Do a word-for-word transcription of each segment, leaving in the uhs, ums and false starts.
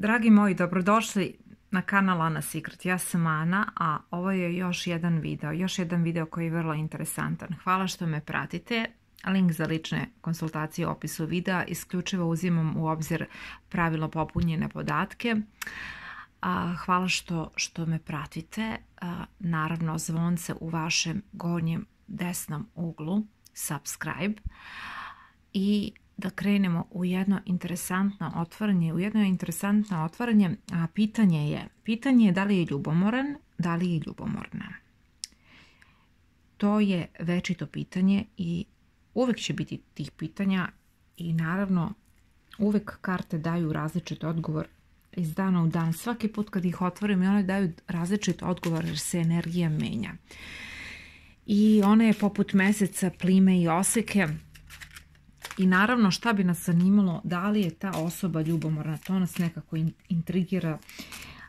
Dragi moji, dobrodošli na kanal Ana Secret. Ja sam Ana, a ovo je još jedan video, još jedan video koji je vrlo interesantan. Hvala što me pratite. Link za lične konsultacije u opisu videa. Isključivo uzimam u obzir pravilno popunjene podatke. Hvala što, što me pratite. Naravno, zvonce u vašem gornjem desnom uglu, subscribe. I da krenemo u jedno interesantno otvaranje. U jedno interesantno otvaranje, a pitanje je, pitanje je da li je ljubomoran, da li je ljubomorna. To je večito pitanje i uvek će biti tih pitanja i naravno uvek karte daju različit odgovor iz dana u dan. Svaki put kad ih otvorim i one daju različit odgovor jer se energija menja. I ona je poput meseca, plime i oseke. I naravno šta bi nas zanimalo, da li je ta osoba ljubomorna, to nas nekako intrigira.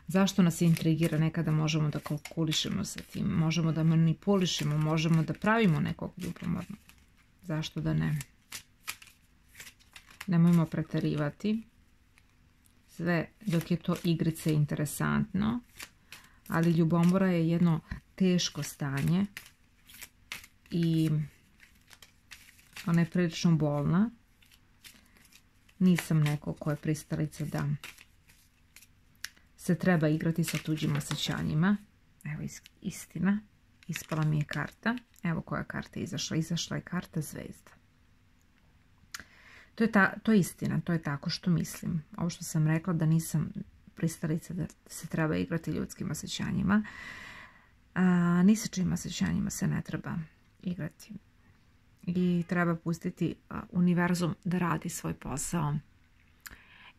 Zašto nas intrigira? Nekada možemo da kalkulišemo sa tim, možemo da manipulišemo, možemo da pravimo nekog ljubomornog. Zašto da ne? Nemojmo preterivati. Sve dok je to igrice interesantno, ali ljubomora je jedno teško stanje i ona je prilično bolna. Nisam neko ko je pristalica da se treba igrati sa tuđim osjećanjima. Evo istina. Ispala mi je karta. Evo koja karta je izašla. Izašla je karta zvezda. To je, ta, to je istina. To je tako što mislim. Ovo što sam rekla da nisam pristalica da se treba igrati ljudskim osjećanjima. A, ni sa čim osjećanjima se ne treba igrati. I treba pustiti univerzum da radi svoj posao.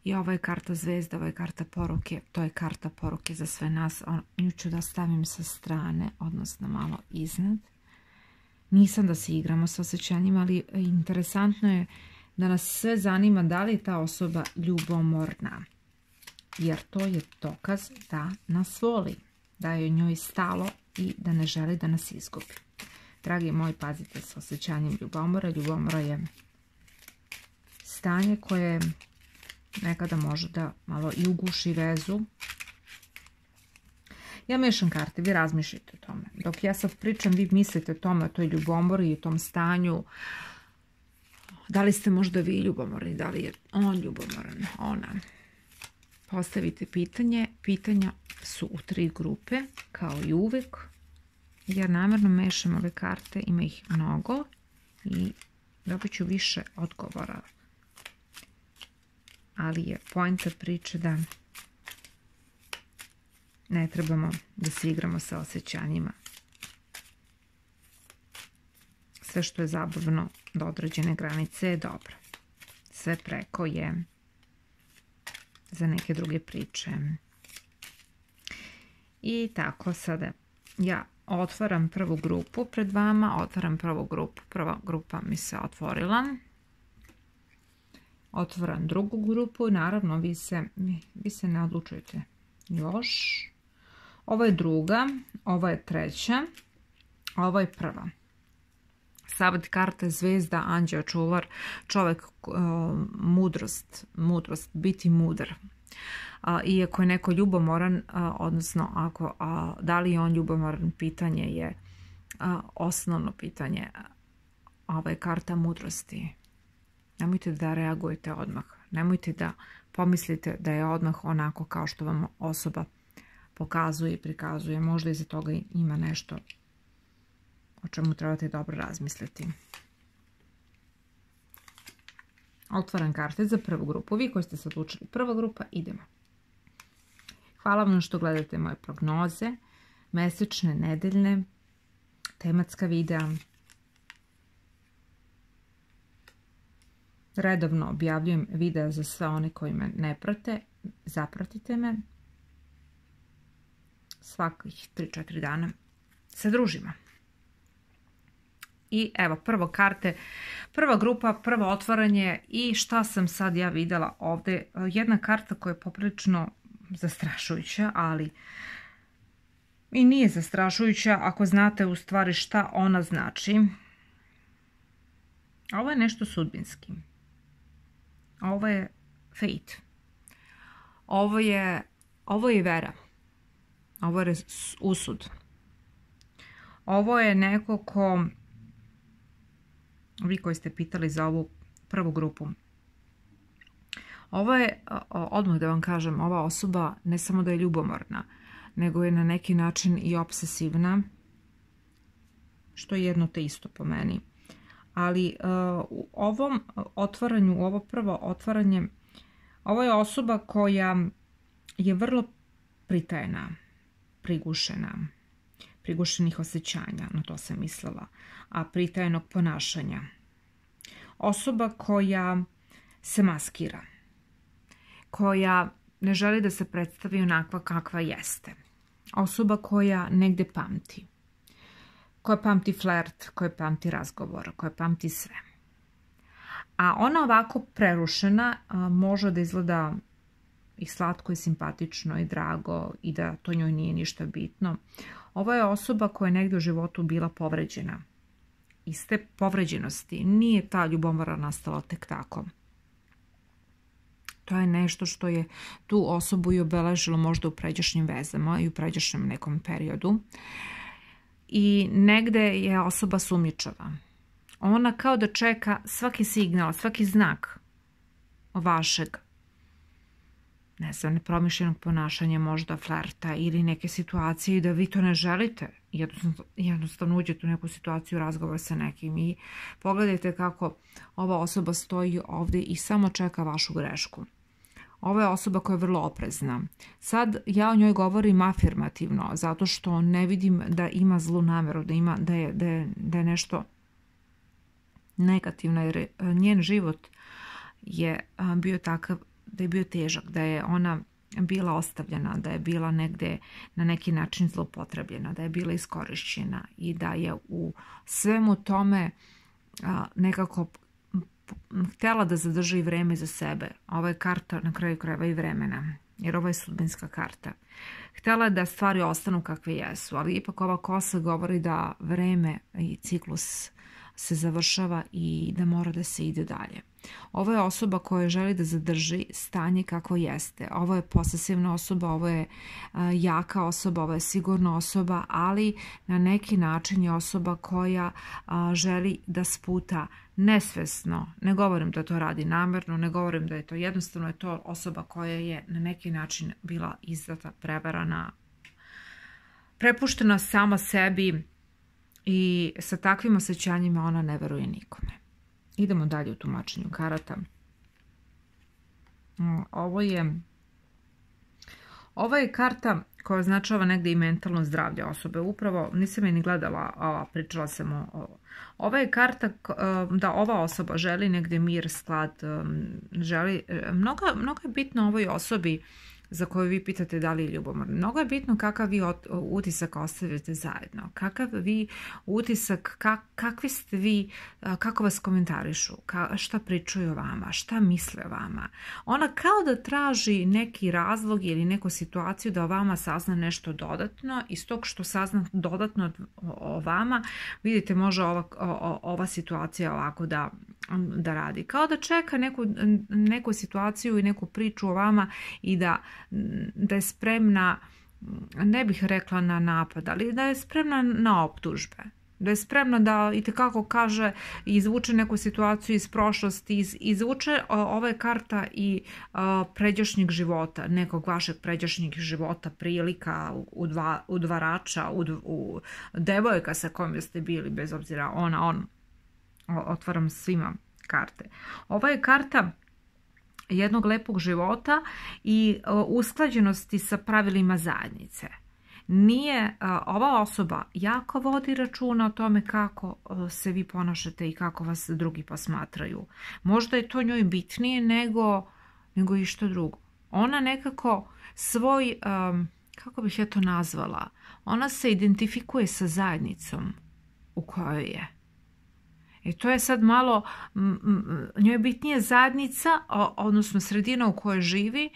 I ovo je karta zvezda, ovo je karta poruke, to je karta poruke za sve nas. Nju ću da stavim sa strane, odnosno malo iznad. Nisam da se igramo sa osjećanjima, ali interesantno je da nas sve zanima da li je ta osoba ljubomorna. Jer to je dokaz da nas voli, da je njoj stalo i da ne želi da nas izgubi. Dragi moji, pazite sa osjećanjem ljubomora. Ljubomora je stanje koje nekada može da malo i uguši vezu. Ja mešam karte, vi razmišljate o tome. Dok ja sad pričam, vi mislite o tome, o toj ljubomori i o tom stanju. Da li ste možda vi ljubomorni, da li je on ljubomoran, ona. Postavite pitanje. Pitanja su u tri grupe, kao i uvek. Ja namjerno mešam ove karte, ima ih mnogo i dobit ću više odgovora. Ali je poenta priče da ne trebamo da se igramo sa osjećanjima. Sve što je zabavno do određene granice je dobro. Sve preko je za neke druge priče. I tako sada ja otvaram prvu grupu pred vama, otvaram prvu grupu, prva grupa mi se otvorila. Otvaram drugu grupu i naravno vi se, vi se ne odlučujete još. Ovo je druga, ovo je treća, ovo je prva. Savet karte zvezda, anđeo, čuvar, čovjek, mudrost, mudrost, biti mudar. Iako je neko ljubomoran, odnosno ako, da li je on ljubomoran, pitanje je osnovno pitanje. Ova je karta mudrosti. Nemojte da reagujete odmah. Nemojte da pomislite da je odmah onako kao što vam osoba pokazuje i prikazuje. Možda iza toga ima nešto o čemu trebate dobro razmisliti. Otvaram karte za prvu grupu. Vi koji ste se odlučili prva grupa, idemo. Hvala vam što gledate moje prognoze, mesečne, nedeljne, tematska videa. Redovno objavljujem videa za sve one koji me ne prate. Zapratite me. Svakih tri četiri dana se družimo. I evo, prvo karte, prva grupa, prvo otvaranje i šta sam sad ja videla ovdje. Jedna karta koja je poprilično zastrašujuća, ali i nije zastrašujuća ako znate u stvari šta ona znači. Ovo je nešto sudbinski. Ovo je fate. Ovo je, ovo je vera. Ovo je usud. Ovo je neko ko, vi koji ste pitali za ovu prvu grupu, ovo je, odmah da vam kažem, ova osoba ne samo da je ljubomorna, nego je na neki način i obsesivna, što je jedno te isto po meni. Ali u ovom otvaranju, u ovo prvo otvaranje, ovo je osoba koja je vrlo pritajena, prigušena, prigušenih osjećanja, na to sam mislila, a pritajenog ponašanja. Osoba koja se maskira, koja ne želi da se predstavi onakva kakva jeste. Osoba koja negde pamti, koja pamti flert, koja pamti razgovor, koja pamti sve. A ona ovako prerušena može da izgleda i slatko i simpatično i drago i da to njoj nije ništa bitno. Ovo je osoba koja je negdje u životu bila povređena. Iz te povređenosti nije ta ljubomora nastala tek tako. To je nešto što je tu osobu i obeležilo možda u pređašnjim vezama i u pređašnjem nekom periodu. I negde je osoba sumnjičava. Ona kao da čeka svaki signal, svaki znak vašeg, ne znam, nepromišljenog ponašanja, možda flerta ili neke situacije i da vi to ne želite. Jednostavno, jednostavno uđete u neku situaciju, razgovor sa nekim i pogledajte kako ova osoba stoji ovdje i samo čeka vašu grešku. Ova je osoba koja je vrlo oprezna. Sad ja o njoj govorim afirmativno, zato što ne vidim da ima zlu nameru, da, ima, da, je, da, je, da je nešto negativno, jer njen život je bio takav da je bio težak, da je ona bila ostavljena, da je bila negde na neki način zloupotrebljena, da je bila iskorišćena i da je u svemu tome nekako htjela da zadrži vreme za sebe. Ovo je karta na kraju krajeva i vremena, jer ovo je sudbinska karta. Htjela je da stvari ostanu kakve jesu, ali ipak ova kosa govori da vreme i ciklus se završava i da mora da se ide dalje. Ovo je osoba koja želi da zadrži stanje kako jeste. Ovo je posesivna osoba, ovo je jaka osoba, ovo je sigurna osoba, ali na neki način je osoba koja želi da sputa nesvesno. Ne govorim da to radi namjerno, ne govorim da je to jednostavno, je to osoba koja je na neki način bila izdata, prevarana, prepuštena sama sebi i sa takvim osjećanjima ona ne veruje nikome. Idemo dalje u tumačenju karata. Ovo je, ovo je karta koja označava negdje i mentalno zdravlje osobe. Upravo, nisam je ni gledala, a pričala sam o ovo. Ova je karta da ova osoba želi negdje mir, sklad, želi, mnogo, mnogo je bitno ovoj osobi za koju vi pitate da li je ljubomorna. Mnogo je bitno kakav vi utisak ostavite zajedno, kakav vi utisak, kak, kakvi ste vi, kako vas komentarišu, ka, šta pričaju o vama, šta misle o vama. Ona kao da traži neki razlog ili neku situaciju da o vama sazna nešto dodatno. Iz tog što sazna dodatno o vama, vidite, može ova, o, ova situacija ovako da, da radi. Kao da čeka neku, neku situaciju i neku priču o vama i da da je spremna, ne bih rekla na napad, ali da je spremna na optužbe. Da je spremna da itekako kaže i izvuče neku situaciju iz prošlosti, iz, izvuče ova je karta i a, pređašnjeg života, nekog vašeg pređašnjeg života, prilika, udva, udvarača, ud, u, devojka sa kojom ste bili, bez obzira ona, on. Otvaram svima karte. Ova je karta jednog lepog života i usklađenosti sa pravilima zajednice. Nije, ova osoba jako vodi računa o tome kako se vi ponašate i kako vas drugi posmatraju. Možda je to njoj bitnije nego, nego i što drugo. Ona nekako svoj, kako bih ja to nazvala, ona se identifikuje sa zajednicom u kojoj je. I to je sad malo, njoj je bitnije zajednica, odnosno sredina u kojoj živi,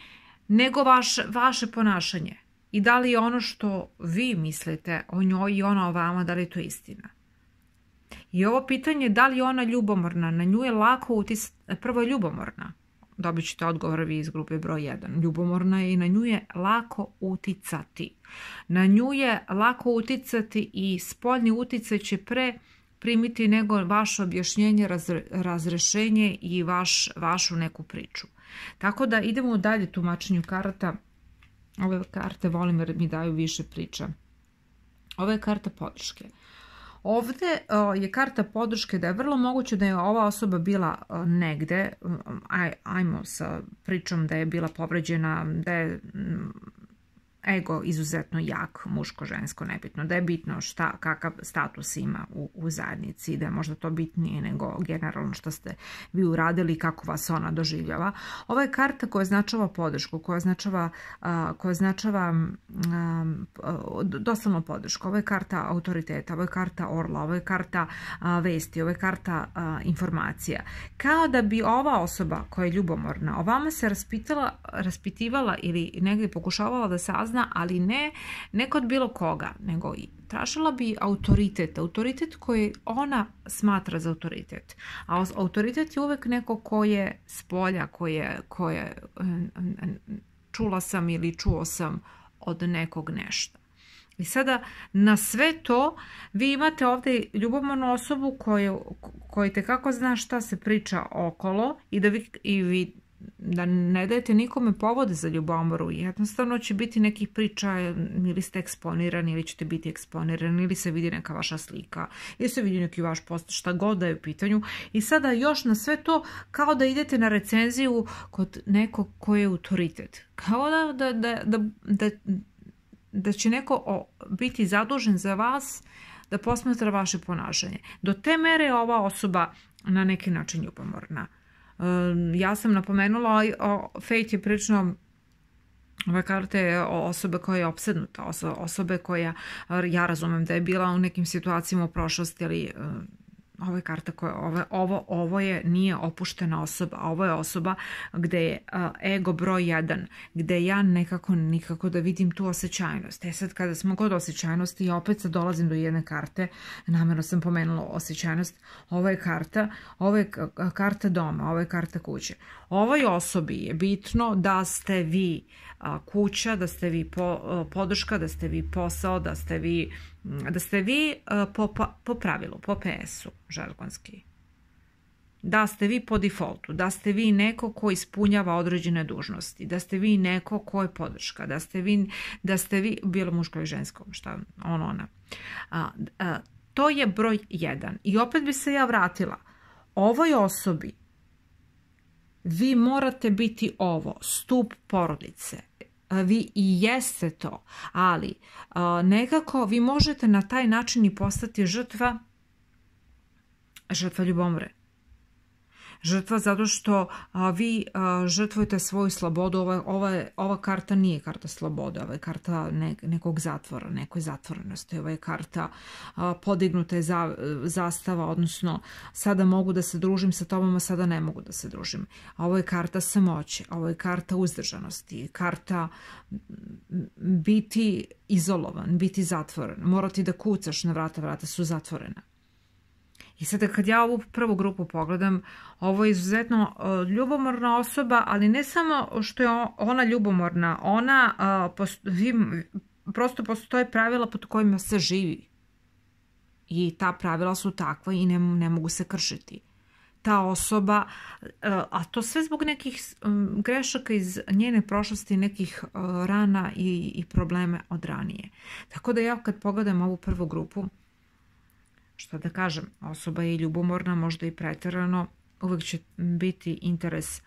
nego vaš, vaše ponašanje. I da li je ono što vi mislite o njoj i ona o vama, da li je to istina. I ovo pitanje, da li je ona ljubomorna, na nju je lako utisati, prvo je ljubomorna. dobit ćete odgovor vi iz grupe broj jedan. Ljubomorna je i na nju je lako uticati. Na nju je lako uticati i spoljni uticaj će pre primiti nego vaše objašnjenje, razre, razrešenje i vaš, vašu neku priču. Tako da idemo dalje tumačenju karata. Ove karte volim jer mi daju više priča. Ova je karta podrške. Ovdje je karta podrške da je vrlo moguće da je ova osoba bila negde, aj, ajmo sa pričom da je bila povređena, da je ego izuzetno jak, muško, žensko, nebitno, da je bitno šta, kakav status ima u, u zajednici, da je možda to bitnije nego generalno što ste vi uradili i kako vas ona doživljava. Ova je karta koja značava podršku, koja značava, uh, koja značava um, doslovno podršku. Ova je karta autoriteta, ova je karta orla, ova je karta uh, vesti, ova je karta uh, informacija. Kao da bi ova osoba koja je ljubomorna o vama se raspitala, raspitivala ili negdje pokušavala da sazna, ali ne, ne kod bilo koga, nego i tražila bi autoritet, autoritet koji ona smatra za autoritet. A autoritet je uvek neko ko je s polja, koje, koje čula sam ili čuo sam od nekog nešto. I sada na sve to vi imate ovdje ljubomornu osobu koju, koju tekako zna šta se priča okolo i da vi, i vi da ne dajete nikome povode za ljubomoru. Jednostavno će biti nekih priča ili ste eksponirani ili ćete biti eksponirani ili se vidi neka vaša slika ili se vidi neki vaš post, šta god da je u pitanju. I sada još na sve to kao da idete na recenziju kod nekog koji je autoritet. Kao da, da, da, da, da, da će neko biti zadužen za vas da posmatra vaše ponašanje. Do te mere je ova osoba na neki način ljubomorna. Ja sam napomenula, Fate je prilično, ove karte je osobe koja je opsednuta, osobe koja, ja razumem da je bila u nekim situacijama u prošlosti, ali ovo je karta koja, ovo, ovo, ovo je, nije opuštena osoba, ovo je osoba gde je ego broj jedan, gde ja nekako, nikako da vidim tu osjećajnost. E sad kada smo kod osjećajnosti, ja opet sad dolazim do jedne karte, namjerno sam pomenula osjećajnost, ovo je karta, ovo je karta doma, ovo je karta kuće. Ovoj osobi je bitno da ste vi kuća, da ste vi podrška, da ste vi posao, da ste vi, da ste vi po, po pravilu, po P S-u žargonski. Da ste vi po defaultu, da ste vi neko ko ispunjava određene dužnosti, da ste vi neko ko je podrška, da ste vi, da ste vi bilo muško i žensko, šta on, ona. A, a, to je broj jedan. I opet bi se ja vratila. Ovoj osobi vi morate biti ovo, stup porodice. Vi i jeste to, ali nekako vi možete na taj način i postati žrtva, žrtva ljubomore. Žrtva zato što a, vi a, žrtvujete svoju slobodu. Ova, ova, ova karta nije karta slobode, ova je karta ne, nekog zatvora, nekoj zatvorenosti. Ova je karta a, podignute za, zastava, odnosno sada mogu da se družim sa tobom, a sada ne mogu da se družim. A ovo je karta samoće, ovo je karta uzdržanosti, karta biti izolovan, biti zatvoren. Morati da kucaš na vrata, vrata su zatvorena. I sada kad ja ovu prvu grupu pogledam, ovo je izuzetno uh, ljubomorna osoba, ali ne samo što je ona ljubomorna, ona uh, postoji, prosto postoje pravila pod kojima se živi. I ta pravila su takva i ne, ne mogu se kršiti. Ta osoba, uh, a to sve zbog nekih um, grešaka iz njene prošlosti, nekih uh, rana i, i probleme od ranije. Tako da ja kad pogledam ovu prvu grupu, što da kažem, osoba je ljubomorna, možda i preterano, uvijek će biti interes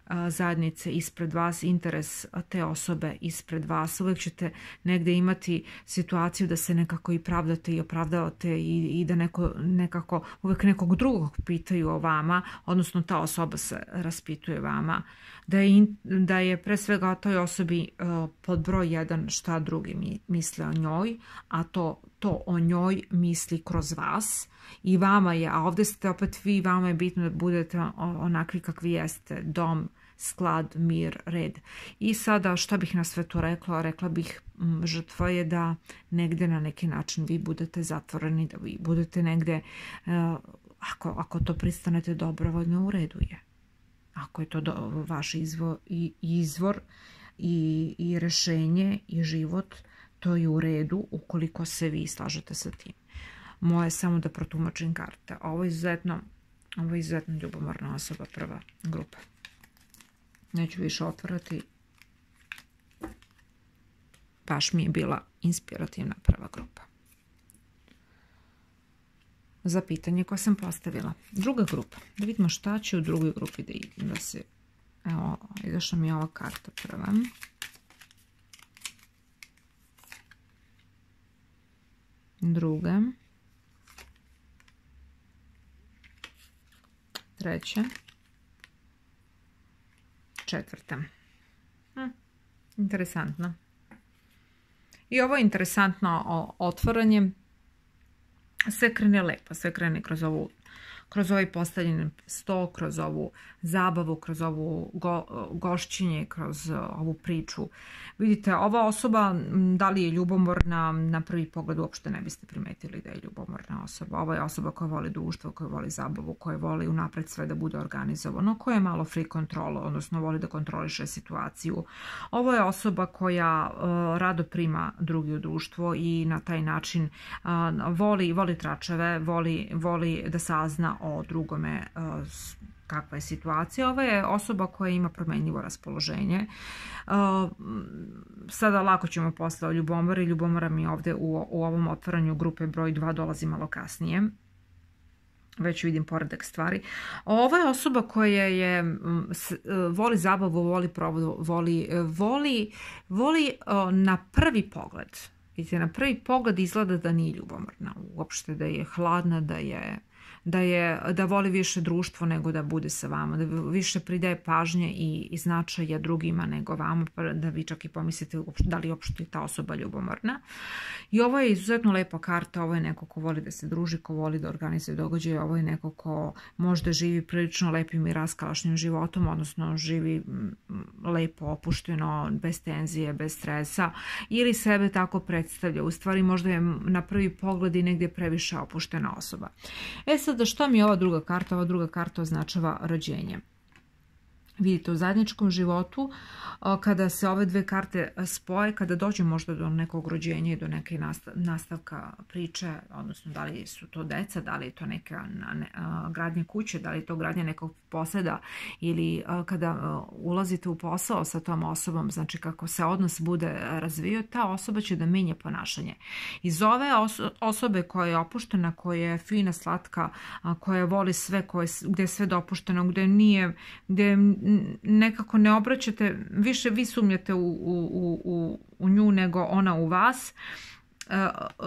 a, zajednice ispred vas, interes te osobe ispred vas. Uvijek ćete negdje imati situaciju da se nekako i pravdate i opravdavate i, i da neko, nekako uvijek nekog drugog pitaju o vama, odnosno ta osoba se raspituje vama. Da je, in, da je pre svega toj osobi uh, pod broj jedan šta drugi mi, misle o njoj, a to, to o njoj misli kroz vas i vama je, a ovdje ste opet vi, vama je bitno da budete onakvi kakvi jeste, dom, sklad, mir, red. I sada šta bih na sve to rekla? Rekla bih m, žrtva je da negdje na neki način vi budete zatvoreni, da vi budete negdje, uh, ako, ako to pristanete dobrovoljno, u redu je. ako je to do, vaš izvor i, izvor i, i rešenje i život, to je u redu ukoliko se vi slažete sa tim. Moje je samo da protumačim karte. Ovo je izuzetno, ovo je izuzetno ljubomorna osoba, prva grupa. Neću više otvarati. Baš mi je bila inspirativna prva grupa. Za pitanje koje sam postavila. Druga grupa. Da vidimo šta će u drugoj grupi da, da se... Evo, izašla mi je ova karta prva. Druga. Treća. Četvrta. Hm, interesantno. I ovo je interesantno otvaranje. Sve krene lepo, sve krene kroz ovu, kroz ovaj postavljen sto, kroz ovu zabavu, kroz ovu go, gošćenje, kroz ovu priču. Vidite, ova osoba, da li je ljubomorna, na prvi pogled uopšte ne biste primetili da je ljubomorna osoba. Ovo je osoba koja voli društvo, koja voli zabavu, koja voli unapred sve da bude organizovano, koja je malo free control, odnosno voli da kontroliše situaciju. Ovo je osoba koja uh, rado prima drugi u društvo i na taj način uh, voli, voli tračeve, voli, voli da sazna o drugome uh, kakva je situacija. Ova je osoba koja ima promenljivo raspoloženje. Uh, sada lako ćemo posle o ljubomori. Ljubomora mi ovde u, u ovom otvaranju grupe broj dva dolazi malo kasnije. Već vidim poredak stvari. Ova je osoba koja je voli zabavu, voli provodu, voli, voli, voli uh, na prvi pogled. Vidite, na prvi pogled izgleda da nije ljubomorna. Uopšte da je hladna, da je Da, je, da voli više društvo nego da bude sa vama, da više pridaje pažnje i, i značaja drugima nego vama, pa da vi čak i pomislite da li uopšte ta osoba ljubomorna. I ovo je izuzetno lepa karta, ovo je neko ko voli da se druži, ko voli da organizuje događaje, ovo je neko ko možda živi prilično lepim i raskalašnim životom, odnosno živi lepo, opušteno, bez tenzije, bez stresa, ili sebe tako predstavlja. U stvari možda je na prvi pogled i negdje previše opuštena osoba. E sad, da što mi je ova druga karta? Ova druga karta označava rođenje. Vidite, u zajedničkom životu, kada se ove dve karte spoje, kada dođe možda do nekog rođenja i do neke nastavka priče, odnosno da li su to deca, da li je to neka gradnja kuće, da li je to gradnja nekog poseda, ili kada ulazite u posao sa tom osobom, znači kako se odnos bude razvio, ta osoba će da menja ponašanje. Iz ove osobe koja je opuštena, koja je fina, slatka, koja voli sve, gde je sve dopušteno, gde nije, gde nekako ne obraćate, više vi sumnjate u, u, u, u nju nego ona u vas.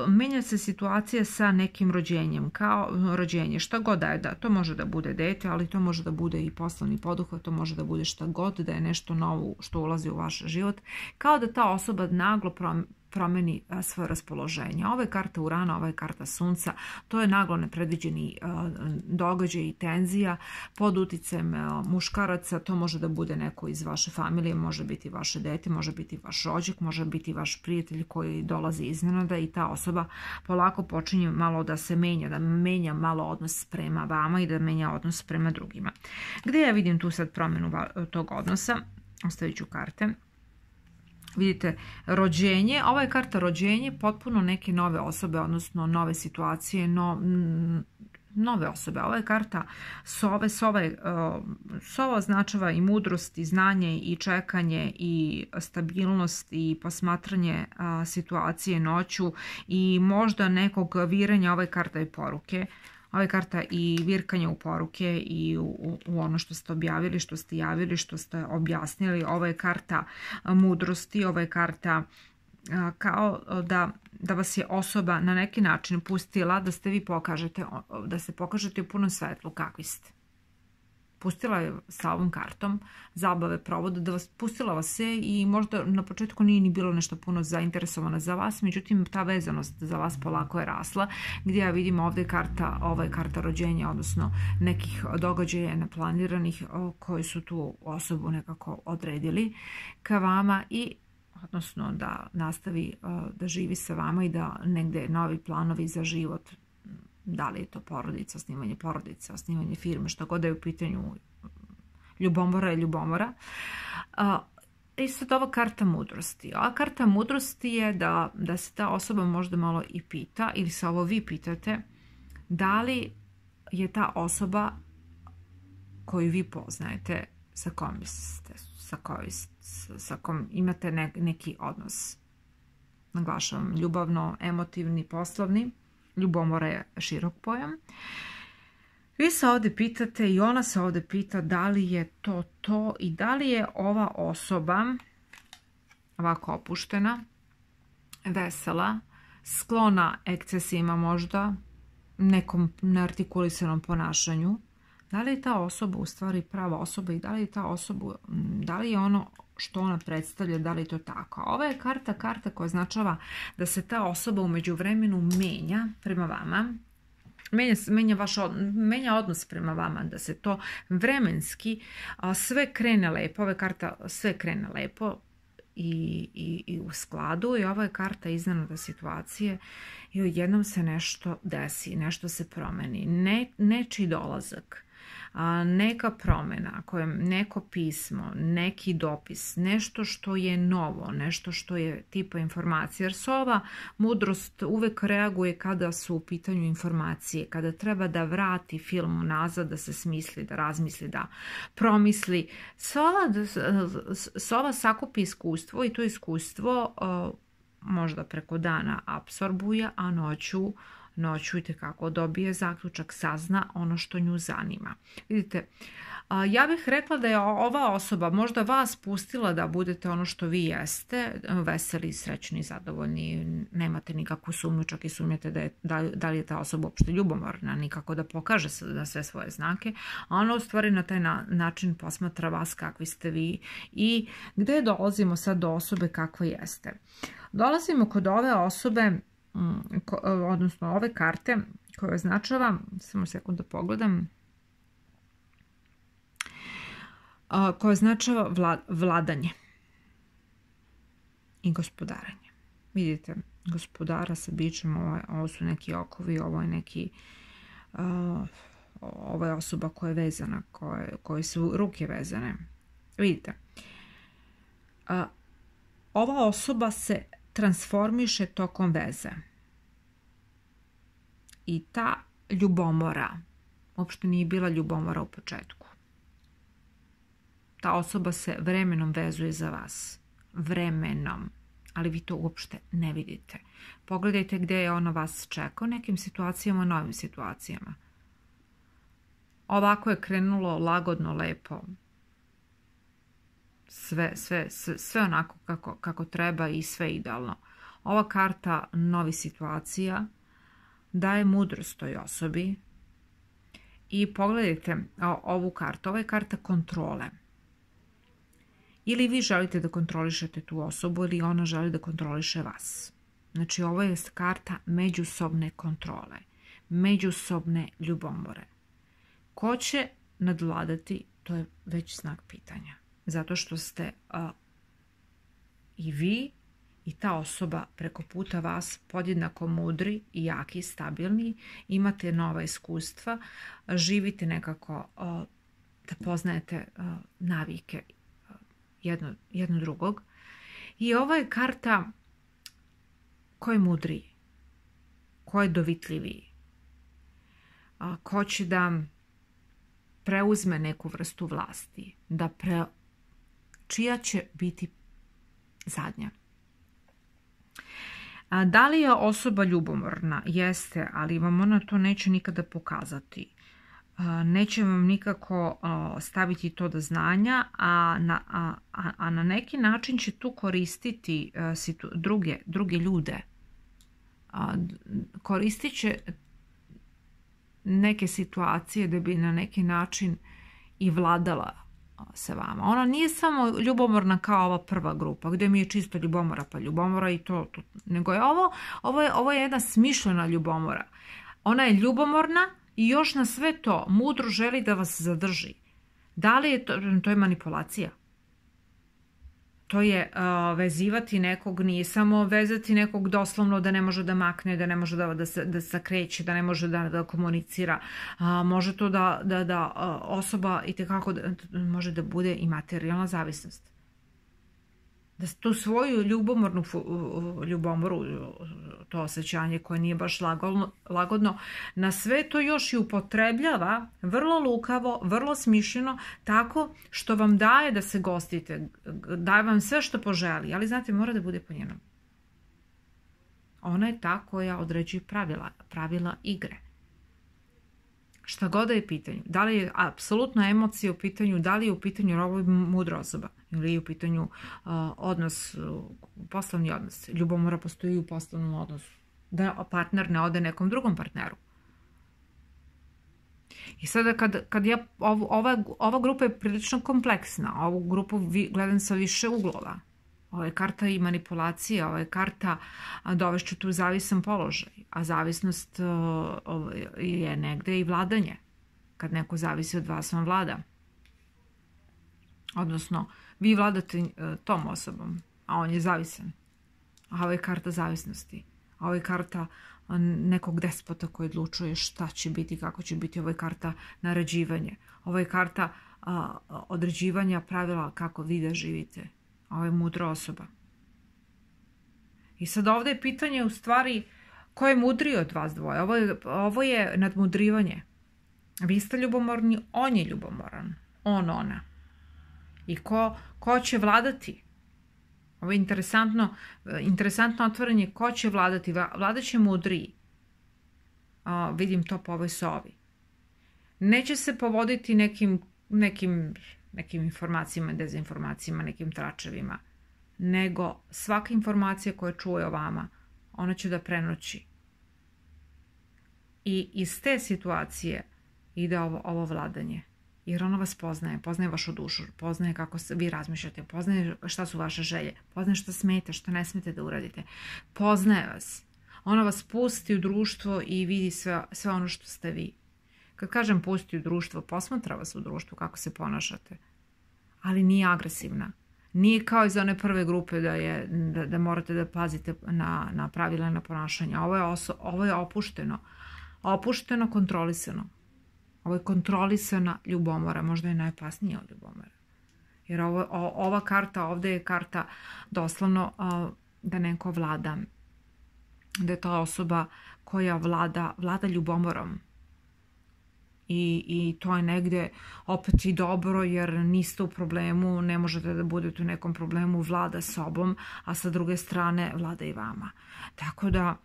Menja se situacija sa nekim rođenjem, kao rođenje, šta god da je, da, to može da bude dete, ali to može da bude i poslovni poduhvat, to može da bude šta god, da je nešto novo što ulazi u vaš život, kao da ta osoba naglo promeni svoje raspoloženje. Ova je karta Urana, ova je karta Sunca, to je naglo nepredviđeni događaj i tenzija pod uticajem muškaraca, to može da bude neko iz vaše familije, može biti vaše dete, može biti vaš rođak, može biti vaš prijatelj koji dolazi iznenada i ta osoba polako počinje malo da se menja, da menja malo odnos prema vama i da menja odnos prema drugima. Gde ja vidim tu sad promjenu tog odnosa? Ostavit ću karte. Vidite, rođenje, ova je karta rođenje, potpuno neke nove osobe, odnosno nove situacije, no, nove osobe. Ova je karta sove, sove, sova označava i mudrost, i znanje, i čekanje, i stabilnost, i posmatranje situacije noću, i možda nekog viranja. Ova je karta i poruke. Ova je karta i virkanje u poruke i u, u ono što ste objavili, što ste javili, što ste objasnili. Ova je karta mudrosti, ova je karta kao da, da vas je osoba na neki način pustila da ste vi pokažete, da se pokažete u punom svetlu kakvi ste. Pustila je sa ovom kartom zabave, provoda, da vas, pustila vas se i možda na početku nije ni bilo nešto puno zainteresovano za vas, međutim ta vezanost za vas polako je rasla, gdje ja vidim ovdje karta, ova je karta rođenja, odnosno nekih događaja neplaniranih koji su tu osobu nekako odredili ka vama i odnosno da nastavi da živi sa vama i da negde novi planovi za život, da li je to porodica, osnivanje porodice, osnivanje firme, što god da je u pitanju, Ljubomora je ljubomora. I sad ova karta mudrosti. Ova karta mudrosti je da, da se ta osoba možda malo i pita, ili se ovo vi pitate, da li je ta osoba koju vi poznajete, sa kom, ste, sa kojom, sa kom imate ne, neki odnos. Naglašavam, ljubavno, emotivni, poslovni. Ljubomora je širok pojam. Vi se ovdje pitate i ona se ovdje pita da li je to to i da li je ova osoba ovako opuštena, vesela, sklona ekscesima možda, nekom neartikulisanom ponašanju. Da li je ta osoba u stvari prava osoba i da li je ta osoba, da li je ono što ona predstavlja, da li je to tako. Ova je karta, karta koja označava da se ta osoba u međuvremenu menja prema vama, menja, menja, vaš, menja odnos prema vama, da se to vremenski a, sve krene lepo, ova je karta sve krene lepo i, i, i u skladu i ova je karta iznenada situacije i odjednom se nešto desi, nešto se promeni, ne, nečiji dolazak, neka promjena, neko pismo, neki dopis, nešto što je novo, nešto što je tipa informacija. Jer sova mudrost uvek reaguje kada su u pitanju informacije, kada treba da vrati film nazad, da se smisli, da razmisli, da promisli. Sova, sova sakupi iskustvo i to iskustvo možda preko dana apsorbuje, a noću noću i tekako dobije zaključak, sazna ono što nju zanima. Vidite, ja bih rekla da je ova osoba možda vas pustila da budete ono što vi jeste, veseli, srećni, zadovoljni, nemate nikakvu sumnju, čak i sumnjate da, je, da, da li je ta osoba uopšte ljubomorna, nikako da pokaže na sve svoje znake, a ona u stvari na taj na, način posmatra vas kakvi ste vi i gde dolazimo sad do osobe kakva jeste. Dolazimo kod ove osobe, odnosno ove karte koje označava, samo sekund da pogledam, koje označava vladanje i gospodaranje. Vidite, gospodara sa bićem, ovo, ovo su neki okovi, ovo je neki, ovo je osoba koja je vezana, koje, koje su ruke vezane. Vidite, ova osoba se transformiše tokom veze. I ta ljubomora, uopšte nije bila ljubomora u početku. Ta osoba se vremenom vezuje za vas. Vremenom. Ali vi to uopšte ne vidite. Pogledajte gdje je ona vas čeka u nekim situacijama, novim situacijama. Ovako je krenulo lagodno, lepo. Sve, sve, sve, sve onako kako, kako treba i sve idealno. Ova karta novi situacija daje mudrost toj osobi i pogledajte ovu kartu. Ova je karta kontrole. Ili vi želite da kontrolišete tu osobu ili ona želi da kontroliše vas. Znači ovo je karta međusobne kontrole, međusobne ljubomore. Ko će nadvladati, to je već znak pitanja. Zato što ste a, i vi i ta osoba preko puta vas podjednako mudri i jaki, stabilni, imate nova iskustva, živite nekako a, da poznajete a, navike a, jedno, jedno drugog. I ova je karta ko je mudriji, ko je dovitljiviji, a, ko će da preuzme neku vrstu vlasti, da pre, čija će biti zadnja. A, da li je osoba ljubomorna? Jeste, ali vam ona to neće nikada pokazati. A, neće vam nikako a, staviti to do znanja, a na, a, a na neki način će tu koristiti a, situ, druge, druge ljude. A, koristit će neke situacije da bi na neki način i vladala sa vama. Ona nije samo ljubomorna kao ova prva grupa, gdje mi je čisto ljubomora pa ljubomora i to, to. Nego je ovo, ovo je, ovo je jedna smišljena ljubomora. Ona je ljubomorna i još na sve to mudro želi da vas zadrži. Da li je to, to je manipulacija? To je uh, vezivati nekog, nije samo vezati nekog doslovno da ne može da makne, da ne može da, da, se, da se kreće, da ne može da, da komunicira. Uh, može to da, da, da uh, osoba itekako da, može da bude i materijalna zavisnost. Da tu svoju ljubomornu ljubomoru, to osjećanje koje nije baš lagodno, lagodno, na sve to još i upotrebljava vrlo lukavo, vrlo smišljeno, tako što vam daje da se gostite, daje vam sve što poželi, ali znate, mora da bude po njenom. Ona je ta koja određuje pravila, pravila igre. Šta god da je pitanje, da li je apsolutna emocija u pitanju, da li je u pitanju ovo mudra osoba ili je u pitanju uh, odnos, uh, poslovni odnos. Ljubomora postoji u poslovnom odnosu. Da partner ne ode nekom drugom partneru. I sada kad, kad ja, ov, ova, ova grupa je prilično kompleksna, ovu grupu vi, gledam sa više uglova. Ovo je karta i manipulacija, ovo je karta dovešću tu zavisan položaj, a zavisnost uh, je negde i vladanje. Kad neko zavisi od vas, on vlada. Odnosno, vi vladate uh, tom osobom, a on je zavisan. A ovo je karta zavisnosti. A ovo je karta uh, nekog despota koji odlučuje šta će biti, kako će biti. Ovo je karta naređivanja. Ovo je karta uh, određivanja pravila kako vi da živite. Ovo je mudra osoba. I sad ovdje je pitanje u stvari ko je mudriji od vas dvoje. Ovo je, ovo je nadmudrivanje. Vi ste ljubomorni, on je ljubomoran. On, ona. I ko, ko će vladati? Ovo je interesantno, interesantno otvaranje ko će vladati. Vladat će mudriji. A, vidim to po ovoj sovi. Neće se povoditi nekim, nekim nekim informacijama, dezinformacijama, nekim tračevima, nego svaka informacija koja čuje o vama, ona će da prenoći. I iz te situacije ide ovo, ovo vladanje. Jer ona vas poznaje, poznaje vašu dušu, poznaje kako vi razmišljate, poznaje šta su vaše želje, poznaje šta smete, šta ne smete da uradite. Poznaje vas. Ona vas pusti u društvo i vidi sve, sve ono što ste vi. Kad kažem pusti u društvo, posmatra vas u društvu kako se ponašate. Ali nije agresivna. Nije kao iz one prve grupe da, je, da, da morate da pazite na, na pravila na ponašanje. Ovo je, oso, ovo je opušteno. Opušteno, kontrolisano. Ovo je kontrolisana ljubomora. Možda je najopasnija od ljubomora. Jer ovo, o, ova karta ovdje je karta doslovno uh, da neko vlada. Da je to osoba koja vlada, vlada ljubomorom. I, i to je negdje opet i dobro jer niste u problemu, ne možete da budete u nekom problemu, vlada sobom, a sa druge strane vlada i vama. Tako da,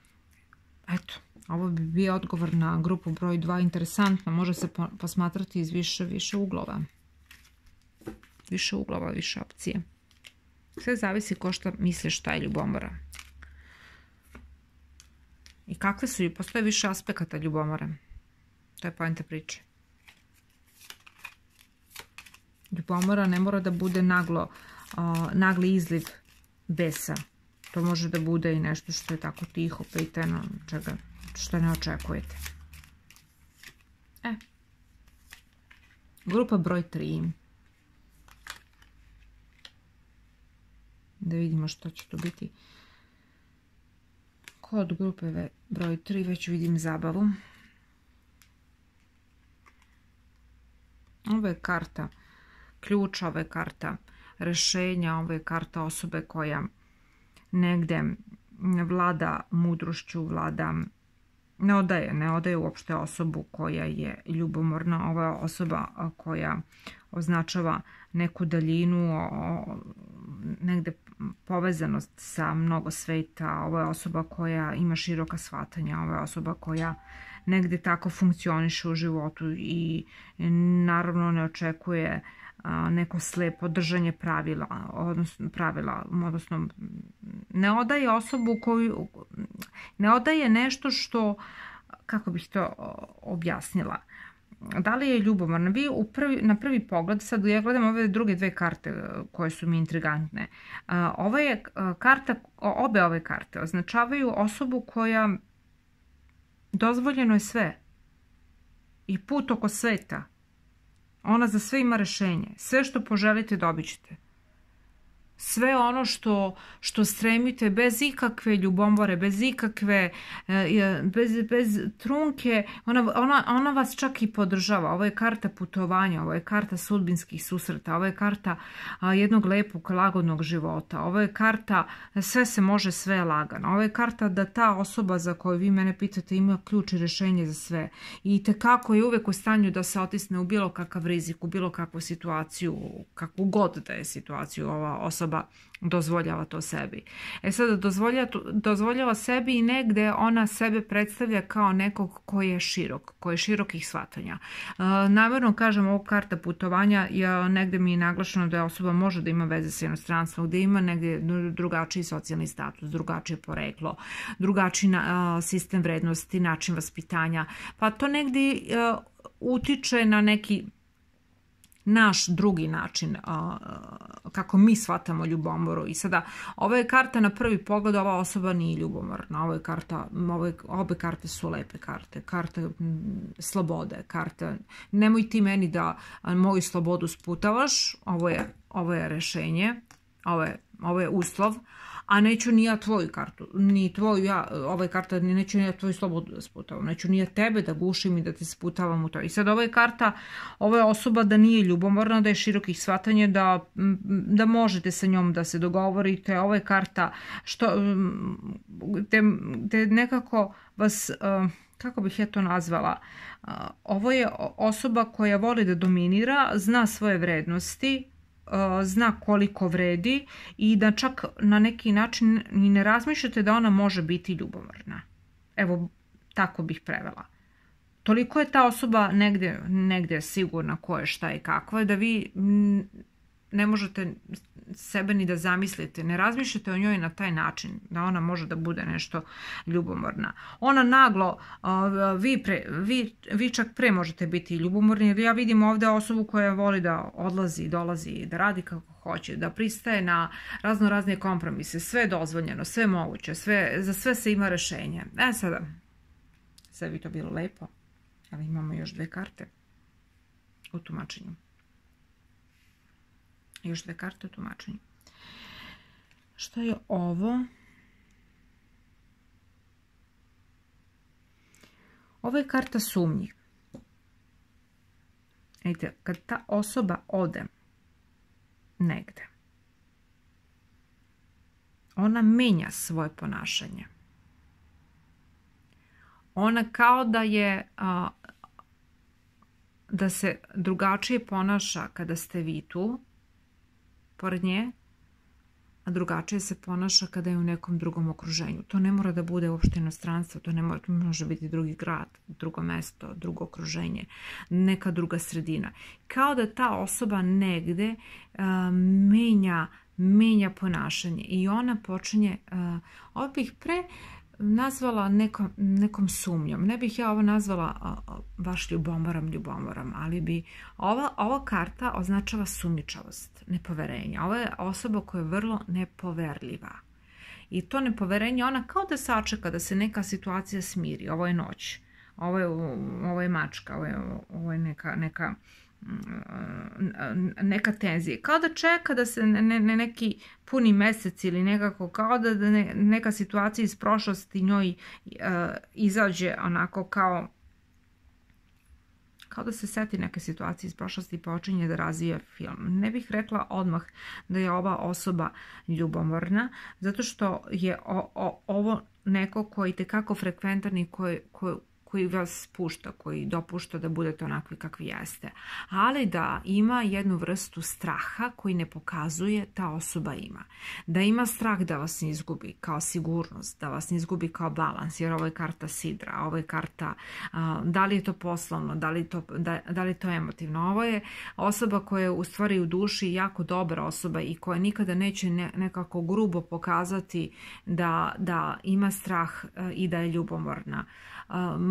eto, ovo bi bio odgovor na grupu broj dva. Interesantno, može se posmatrati iz više, više uglova. Više uglova, više opcije. Sve zavisi ko šta misli šta je ljubomora. I kakve su, postoje više aspekata ljubomore. To je poenta priče. Ljubomora ne mora da bude naglo, uh, nagli izliv besa. To može da bude i nešto što je tako tiho, pitano, čega, što ne očekujete. E. Grupa broj tri. Da vidimo što će tu biti. Kod grupe broj tri već vidim zabavu. Ovo je karta ključa, ovo je karta rešenja, ovo je karta osobe koja negde vlada mudrošću, vlada, ne odaje, ne odaje uopšte osobu koja je ljubomorna. Ovo je osoba koja označava neku daljinu, negde povezanost sa mnogo sveta. Ovo je osoba koja ima široka shvatanja, ovo je osoba koja negde tako funkcioniše u životu i naravno ne očekuje neko slepo držanje pravila, odnosno pravila, odnosno ne odaje osobu koju, ne odaje nešto što, kako bih to objasnila, da li je ljubomorna? Vi u prvi, na prvi pogled, sad ja gledam ove druge dve karte koje su mi intrigantne. Ova je karta, obe ove karte označavaju osobu koja dozvoljeno je sve i put oko sveta. Ona za sve ima rešenje. Sve što poželite dobit ćete. sve ono što, što stremite, bez ikakve ljubomore, bez ikakve, bez, bez trunke, ona, ona, ona vas čak i podržava. Ovo je karta putovanja, ovo je karta sudbinskih susreta, ovo je karta jednog lepog, lagodnog života, ovo je karta sve se može, sve je lagano, ovo je karta da ta osoba za koju vi mene pitate ima ključ i rješenje za sve i tekako je uvijek u stanju da se otisne u bilo kakav rizik, u bilo kakvu situaciju, kakvu god da je situaciju ova osoba dozvoljava to sebi. E sada dozvoljava, dozvoljava sebi i negde ona sebe predstavlja kao nekog koji je širok, koji je širokih shvatanja. E, namjerno kažem ovo karta putovanja, ja, negde mi je naglašeno da je osoba može da ima veze sa inostranstvom, gde ima negde drugačiji socijalni status, drugačije poreklo, drugačiji a, sistem vrednosti, način vaspitanja, pa to negde a, utiče na neki naš drugi način a, kako mi shvatamo ljubomoru. I sada, ova je karta na prvi pogled, ova osoba nije ljubomorna. Ovo je karta, ove, obe karte su lepe karte. Karte m, slobode, karte nemoj ti meni da a, moju slobodu sputavaš, ovo je, ovo je rešenje, ovo je, ovo je uslov, a neću ni ja tvoju kartu, ni tvoju ja, ova je karta, neću ni ja tvoju slobodu da sputavam, neću ni ja tebe da gušim i da te sputavam u to. I sad ova je karta, ova je osoba da nije ljubomorna, da je širokih shvatanja, da, da možete sa njom da se dogovorite, ova je karta što, te, te nekako vas, kako bih ja to nazvala, ovo je osoba koja voli da dominira, zna svoje vrednosti, zna koliko vredi i da čak na neki način ni ne razmišljate da ona može biti ljubomorna. Evo, tako bih prevela. Toliko je ta osoba negdje, negdje sigurna ko je, šta je i kakva je, da vi ne možete sebe ni da zamislite, ne razmišljate o njoj na taj način, da ona može da bude nešto ljubomorna. Ona naglo, vi, pre, vi, vi čak pre možete biti ljubomorni, jer ja vidim ovdje osobu koja voli da odlazi, dolazi, da radi kako hoće, da pristaje na razno razne kompromise, sve je dozvoljeno, sve je moguće, sve, za sve se ima rešenje. E sada, sve bi to bilo lepo, ali imamo još dve karte u tumačenju. Još dve karte u tumačenju. Šta je ovo? Ovo je karta sumnji. Vidite, kad ta osoba ode negde, ona menja svoje ponašanje. Ona kao da je a, da se drugačije ponaša kada ste vi tu pored nje, a drugačije se ponaša kada je u nekom drugom okruženju. To ne mora da bude uopšte inostranstvo, to ne mora, to može biti drugi grad, drugo mesto, drugo okruženje, neka druga sredina. Kao da ta osoba negde uh, menja, menja ponašanje i ona počinje, uh, ovo bih pre nazvala nekom, nekom sumnjom. Ne bih ja ovo nazvala a, a, baš ljubomorom, ljubomorom, ali bi ova, ova karta označava sumnjičavost, nepoverenje. Ova je osoba koja je vrlo nepoverljiva. I to nepoverenje, ona kao da sačeka da se neka situacija smiri. Ovo je noć, ovo je, ovo je mačka, ovo je, ovo je neka... neka neka tenzija, kao da čeka da se ne, ne, neki puni mesec ili nekako, kao da ne, neka situacija iz prošlosti njoj uh, izađe onako kao kao da se seti neke situacije iz prošlosti i počinje da razvija film. Ne bih rekla odmah da je ova osoba ljubomorna, zato što je o, o, ovo neko koji tekako frekventan i koji, koji koji vas pušta, koji dopušta da budete onakvi kakvi jeste. Ali da ima jednu vrstu straha koji ne pokazuje ta osoba ima. Da ima strah da vas ne izgubi kao sigurnost, da vas ne izgubi kao balans, jer ovo je karta sidra, ovo je karta a, da li je to poslovno, da li, to, da, da li je to emotivno. Ovo je osoba koja je u stvari u duši jako dobra osoba i koja nikada neće ne, nekako grubo pokazati da, da ima strah a, i da je ljubomorna.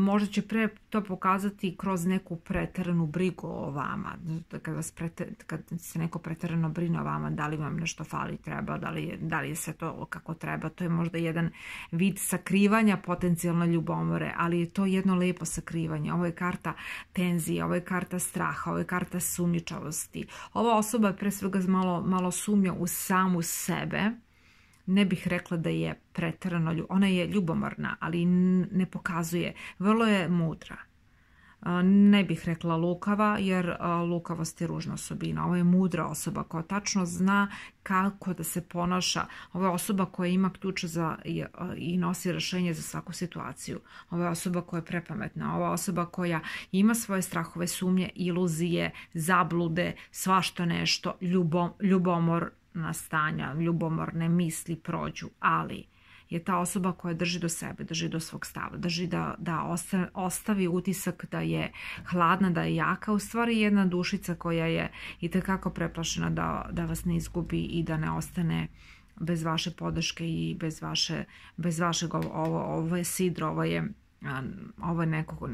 možda će pre to pokazati kroz neku preteranu brigu o vama. Kad, vas preter, kad se neko preterano brine o vama, da li vam nešto fali, treba, da li, je, da li je sve to kako treba. To je možda jedan vid sakrivanja potencijalne ljubomore, ali je to jedno lepo sakrivanje. Ovo je karta tenzije, ovo je karta straha, ovo je karta sumnjičavosti. Ova osoba je pre svega malo, malo sumnja u samu sebe. Ne bih rekla da je preterano, ona je ljubomorna, ali ne pokazuje. Vrlo je mudra. Ne bih rekla lukava, jer lukavost je ružna osobina. Ovo je mudra osoba koja tačno zna kako da se ponaša. Ovo je osoba koja ima ključ za, i nosi rješenje za svaku situaciju. Ovo je osoba koja je prepametna. Ovo je osoba koja ima svoje strahove, sumnje, iluzije, zablude, svašta nešto, ljubom, ljubomor, stanja, ljubomorne misli prođu, ali je ta osoba koja drži do sebe, drži do svog stava, drži da, da ostavi utisak da je hladna, da je jaka, u stvari jedna dušica koja je itekako preplašena da, da vas ne izgubi i da ne ostane bez vaše podrške i bez, vaše, bez vašeg, ovo, ovo je sidro, ovo je, ovo je nekog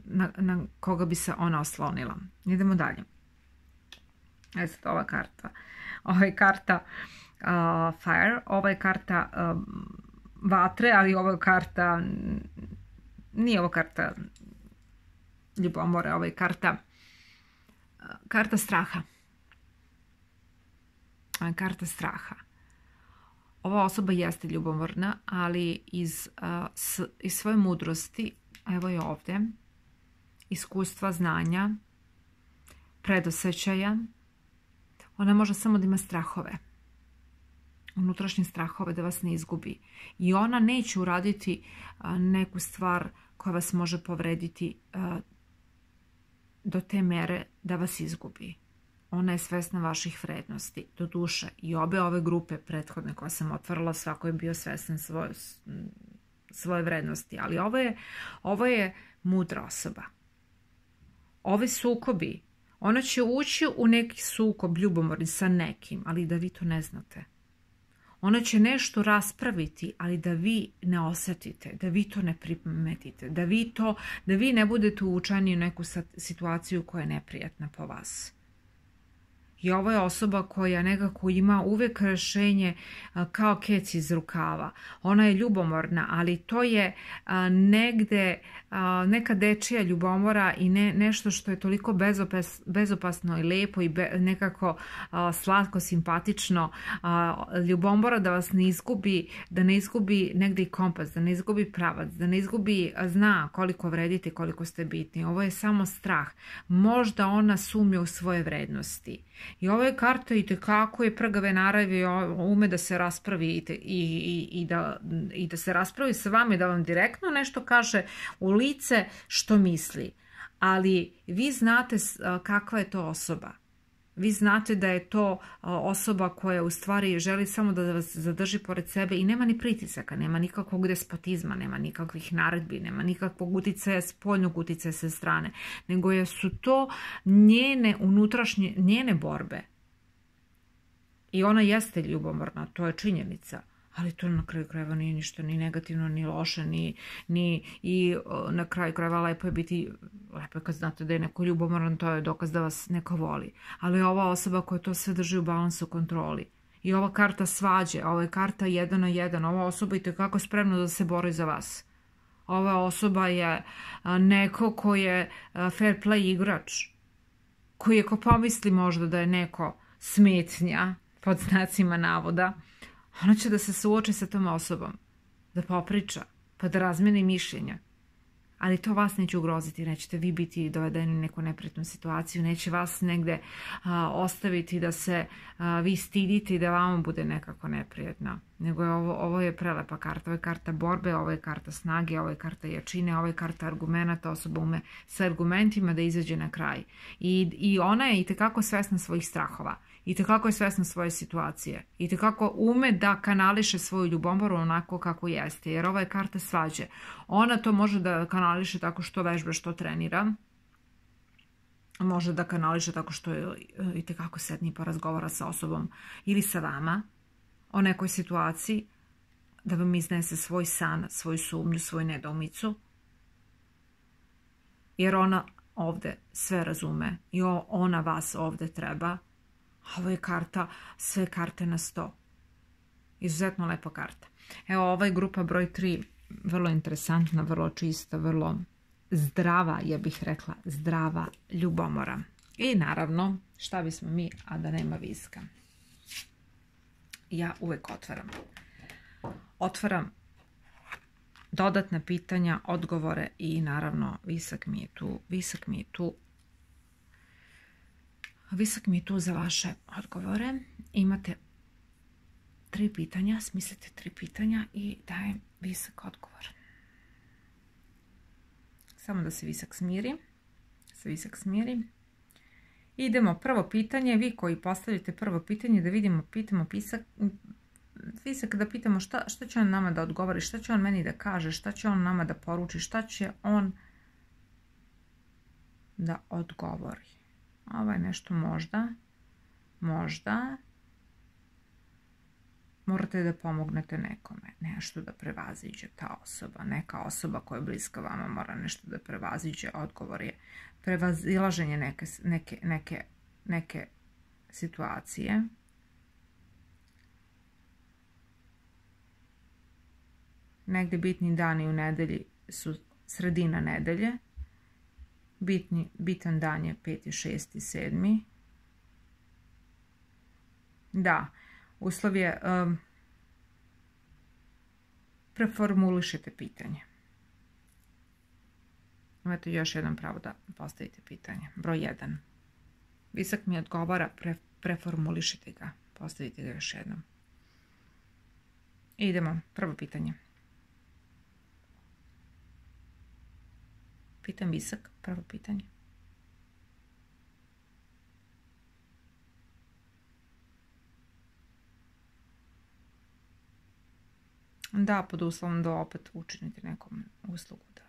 na, na koga bi se ona oslonila. Idemo dalje. E sad ova karta. Ova je karta uh, Fire, ova je karta uh, vatre, ali ova je karta, nije ova karta ljubomore, ova je karta, uh, karta straha. Ova je karta straha. Ova osoba jeste ljubomorna, ali iz, uh, s, iz svoje mudrosti, evo je ovdje, iskustva, znanja, predosjećaja, ona može samo da ima strahove, unutrašnje strahove da vas ne izgubi. I ona neće uraditi neku stvar koja vas može povrediti do te mere da vas izgubi. Ona je svesna vaših vrednosti, do duše. I obe ove grupe prethodne koje sam otvorila, svako je bio svestan svoje, svoje vrednosti. Ali ovo je, ovo je mudra osoba. Ovi sukobi, ona će ući u neki sukob ljubomorni sa nekim, ali da vi to ne znate. Ona će nešto raspraviti, ali da vi ne osjetite, da vi to ne primetite, da vi, to, da vi ne budete uvučeni u neku situaciju koja je neprijatna po vas. I ovo je osoba koja nekako ima uvijek rješenje kao kec iz rukava. Ona je ljubomorna, ali to je negde neka dečija ljubomora i ne, nešto što je toliko bezopas, bezopasno i lepo i be, nekako slatko, simpatično. Ljubomora da vas ne izgubi, da ne izgubi negde i kompas, da ne izgubi pravac, da ne izgubi, zna koliko vredite, koliko ste bitni. Ovo je samo strah. Možda ona sumnja u svoje vrednosti. I ova je karta itekako je prgave naravi, ume da se raspravi i, i, i, da, i da se raspravi sa vama i da vam direktno nešto kaže u lice što misli. Ali vi znate kakva je to osoba. Vi znate da je to osoba koja u stvari želi samo da vas zadrži pored sebe i nema ni pritisaka, nema nikakvog despotizma, nema nikakvih naredbi, nema nikakvog uticaja, spoljnog uticaja sa strane, nego su to njene unutrašnje, njene borbe. I ona jeste ljubomorna, to je činjenica. Ali to na kraju krajeva nije ništa ni negativno, ni loše, ni, ni i na kraju krajeva lepo je biti, lepo je kad znate da je neko ljubomoran, to je dokaz da vas neko voli. Ali ova osoba koja to sve drži u balansu, kontroli. I ova karta svađe, ova je karta jedan na jedan, ova osoba je itekako spremna da se bori za vas. Ova osoba je neko ko je fair play igrač, koji je ko pomisli možda da je neko smetnja, pod znacima navoda, ona će da se suoči sa tom osobom, da popriča, pa da razmeni mišljenja. Ali to vas neće ugroziti, nećete vi biti dovedeni u neku neprijatnu situaciju, neće vas negde a, ostaviti da se a, vi stidite i da vama bude nekako neprijatno. Nego je ovo, ovo je prelepa karta, ovo je karta borbe, ovo je karta snage, ovo je karta jačine, ovo je karta argumenta, osoba ume sa argumentima da izađe na kraj. I, i ona je itekako svesna svojih strahova. I tekako je svesna svoje situacije. I tekako ume da kanališe svoju ljubomoru onako kako jeste. Jer ova je karta svađe. Ona to može da kanališe tako što vežba, što trenira. Može da kanališe tako što je i tekako sedni pa razgovara sa osobom ili sa vama o nekoj situaciji. da vam iznese svoj san, svoju sumnju, svoju nedoumicu, jer ona ovde sve razume i ona vas ovde treba. Ovo je karta, sve karte na sto. Izuzetno lepa karta. Evo, ova je grupa broj tri, vrlo interesantna, vrlo čista, vrlo zdrava, ja bih rekla, zdrava ljubomora. I naravno, šta bismo mi, a da nema viska. Ja uvek otvaram. Otvaram dodatna pitanja, odgovore i naravno visak mi je tu, visak mi je tu, visak mi je tu za vaše odgovore. Imate tri pitanja, smislite tri pitanja i dajem visak odgovor. Samo da se visak smiri, se visak smiri. Idemo, prvo pitanje, vi koji postavite prvo pitanje, da vidimo, pitamo pisak, visak da pitamo šta, šta će on nama da odgovori, šta će on meni da kaže, šta će on nama da poruči, šta će on da odgovori. Ovo je nešto možda, možda, morate da pomognete nekome, nešto da prevaziđe ta osoba, neka osoba koja je bliska vama mora nešto da prevaziđe, odgovor je prevazilaženje neke, neke, neke, neke situacije. Negde bitni dani u nedelji su sredina nedelje, bitni, bitan dan je peti, šesti, sedmi. Da, uslov je, um, preformulišite pitanje. Imate još jedan pravo da postavite pitanje. Broj jedan. Visak mi odgovara, pre, preformulišite ga. Postavite ga još jednom. Idemo, prvo pitanje. Pitam visak, prvo pitanje. Da, pod uslovom da opet učinite nekom uslugu, da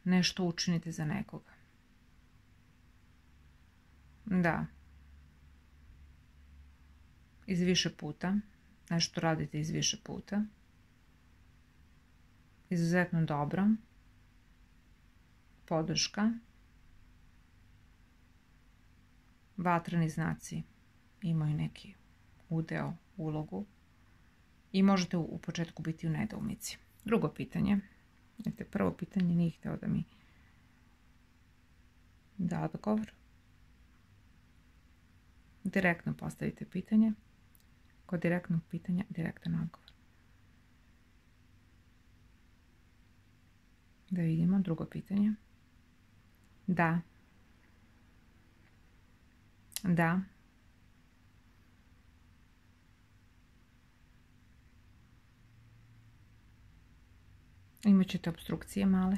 nešto učinite za nekoga. Da. Iz više puta. Nešto radite iz više puta. Izuzetno dobro. Podrška. Vatreni znaci imaju neki udeo, ulogu. I možete u početku biti u nedoumici. Drugo pitanje. Prvo pitanje nije hteo da mi da odgovor. Direktno postavite pitanje. Kod direktnog pitanja, direktan odgovor. Da vidimo drugo pitanje. Da. Da. Imat ćete obstrukcije male.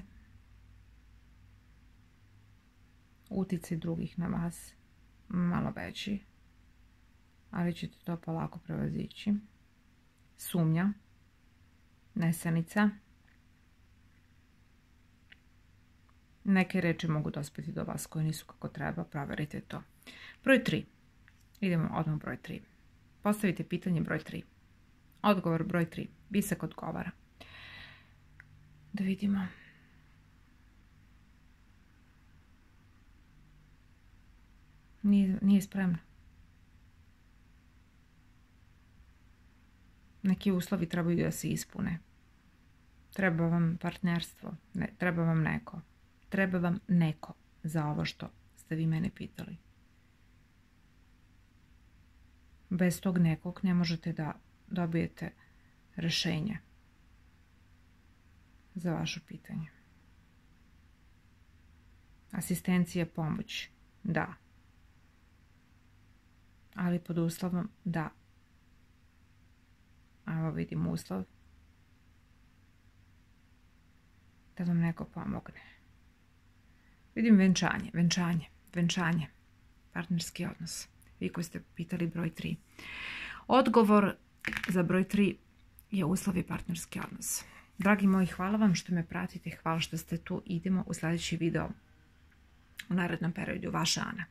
Uticaj drugih na vas malo veći, ali ćete to polako prevazići. Sumnja, nesanica. Neke reči mogu dospeti do vas koje nisu kako treba, proverite to. Broj tri. Idemo odmah broj tri. Postavite pitanje broj tri. Odgovor broj tri. Visak odgovara. Da vidimo. Nije, nije spremna. Neki uslovi trebaju da se ispune. Treba vam partnerstvo, ne, treba vam neko. Treba vam neko za ovo što ste vi mene pitali. Bez tog nekog ne možete da dobijete rešenje za vaše pitanje. Asistencija, pomoć, da. Ali pod uslovom da. Evo vidim uslov. Da vam neko pomogne. Vidim venčanje, venčanje, venčanje. Partnerski odnos. Vi koji ste pitali broj tri. Odgovor za broj tri je uslov i partnerski odnos. Dragi moji, hvala vam što me pratite, hvala što ste tu. Idemo u sljedeći video u narednom periodu. Vaša Ana.